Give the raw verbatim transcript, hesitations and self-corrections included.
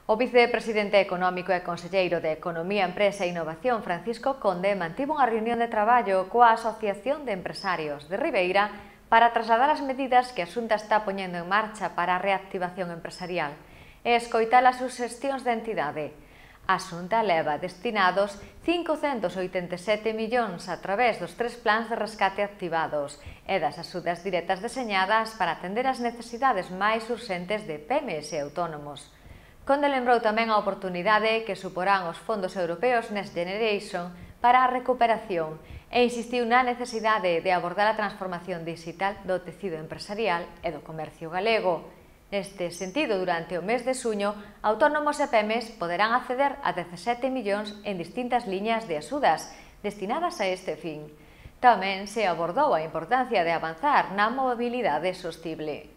O vicepresidente económico e conselleiro de Economía, Empresa e Innovación, Francisco Conde, mantivo unha reunión de traballo coa Asociación de Empresarios de Ribeira para trasladar as medidas que a Xunta está poñendo en marcha para a reactivación empresarial e escoitar as suxestións da entidade. A Xunta leva destinados cincocentos oitenta e sete millóns a través dos tres plans de rescate activados e das axudas directas deseñadas para atender as necesidades máis urxentes de pymes e autónomos. Conde lembrou tamén a oportunidade que suporán os fondos europeos Next Generation para a recuperación e insistiu na necesidade de abordar a transformación digital do tecido empresarial e do comercio galego. Neste sentido, durante o mes de xuño, autónomos e pymes poderán acceder a dezasete millóns en distintas liñas de axudas destinadas a este fin. Tamén se abordou a importancia de avanzar na mobilidade sostible.